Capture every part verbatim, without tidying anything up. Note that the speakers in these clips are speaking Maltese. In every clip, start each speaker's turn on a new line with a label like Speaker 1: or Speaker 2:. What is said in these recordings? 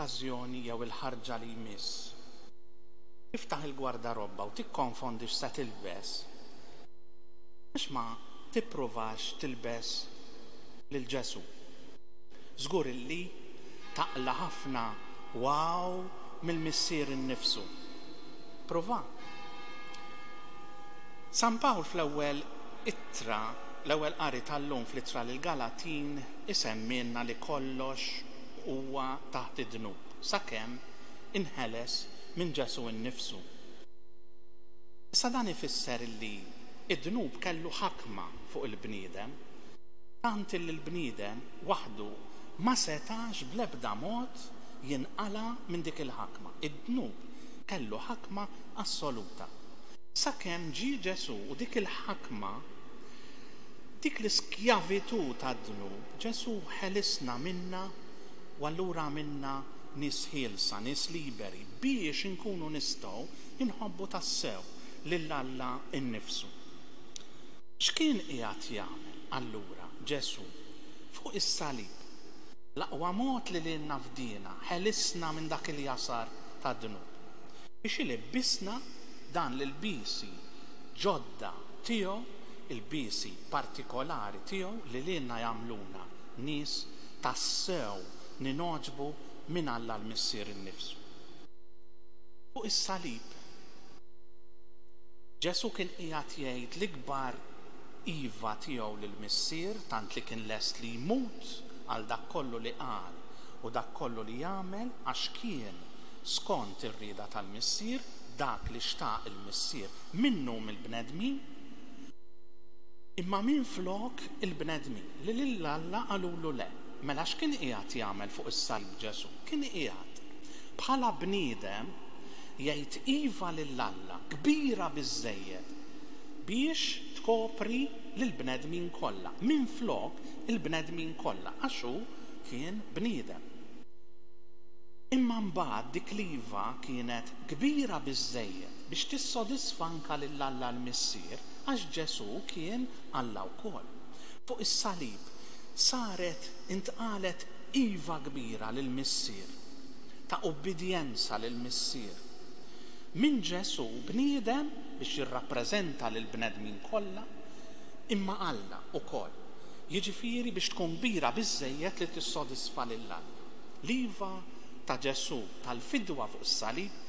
Speaker 1: L-okkażjoni jew il-ħarġa li jmiss, tiftaħ il-gwardarobba u tikkonfondi x'se tilbes, għax ma tippruvax tilbes lil Ġesù? Żgur illi taqla' ħafna wow mill-Missier innifsu. Prova. San Pawl fl-ewwel ittra, l-ewwel qari tal-lum fl-ittra lill-Galatin isemmilna li kollox huwa taħt id-dnub sakemm inħeles minn Ġesù innifsu. Issa dan ifisser li id-dnub kellu ħakma fuq il-bniedem, tant li l-bniedem waħdu ma setax bl-ebda mod jinqala' minn dik il-ħakma. Id-dnub kellu ħakma assoluta. Sakemm ġie Ġesù u dik il-ħakma, dik l-iskjavitù tad-dnub, Ġesù ħelisna minna u allura għamilna nies ħielsa, nies liberi, biex inkunu nistgħu inħobbu tassew lil Alla nnifsu. X'kien qiegħed jagħmel allura Ġesù fuq is-salib? L-aqwa mod li lilna fdiena, ħelisna minn dak il-jasar tad-dnub, biex ilibbisna dan l-ilbiesi ġodda tiegħu, ilbiesi partikolari tiegħu li lilna jagħmluna nies tassew ningħoġbu minn Alla l-Missier innifsu. Fuq is-salib Ġesù kien qiegħed jgħid l-ikbar iva tiegħu lill-Missier, tant li kien lest li jmut għal dak kollu li qal u dak kollu li jagħmel, għax kien skont ir-rieda tal-Missier, dak li xtaq il-Missier minnu mill-bnedmin, imma minflok il-bnedmin li lil Alla qalulu le. Mela x'kien qiegħed jagħmel fuq is-salib Ġesù? Kien qiegħed bħala bniedem jgħid iva lil Alla kbira biżżejjed biex tkopri lill-bnedmin kollha, minflok il-bnedmin kollha, għax hu kien bniedem. Imma mbagħad dik l-iva kienet kbira biżżejjed biex tissodisfa anke lil Alla l-Missier, għax Ġesù kien Alla wkoll. Fuq is-salib saret intqalet iva kbira lill-Missier, ta' ubbidjenza lill-Missier. Minn Ġesù bniedem biex jirrappreżenta lill-bnedmin kollha, imma Alla wkoll. Jiġifieri biex tkun kbira biżżejjed li tissodisfa lil Alla. L-iva ta' Ġesù tal-fidwa fuq is-salib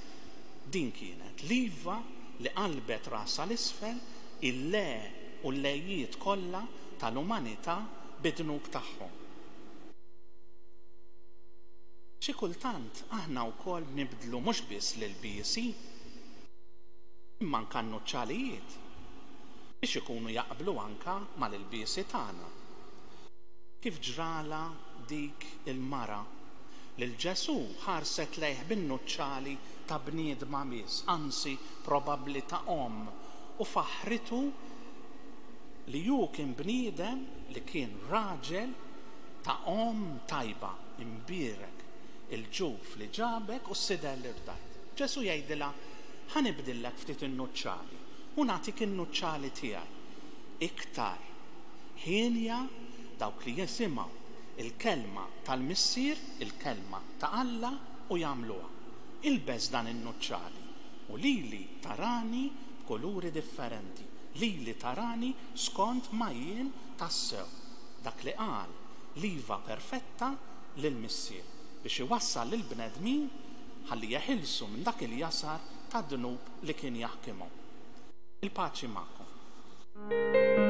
Speaker 1: din kienet l-iva li qalbet rasha l-isfel il-le u l-lejiet kollha tal-umanità bid-dnub tagħhom. Xi kultant aħna wkoll nibdlu mhux biss l-ilbiesi, imma anke n-nuċċalijiet biex ikunu jaqblu anke mal-ilbiesi tagħna. Kif ġrala dik il-mara lil Ġesù ħarset lejh bin-nuċċali ta' bniedma biss, anzi probabbli ta' omm, u faħritu li hu kien bniedem, li kien raġel ta' omm tajba, imbierek il-ġuf li ġabek u s-sider li rdajt. Ġesù jgħidilha, ħa nibdillek ftit in-nuċċali u nagħtik in-nuċċali tiegħi. Iktar ħienja dawk li jisimgħu il-kelma tal-Missier, il-kelma ta' Alla u jagħmluha. Ilbes dan in-nuċċali u lili tarani b'kuluri differenti, lili tarani skont ma jien tassew. Dak li qal l-iva perfetta lill-Missier biex iwassal lill-bnedmin ħalli jeħilsu minn dak il-jasar tad-dnub li kien jaħkimhom. Il-paċi magħkom.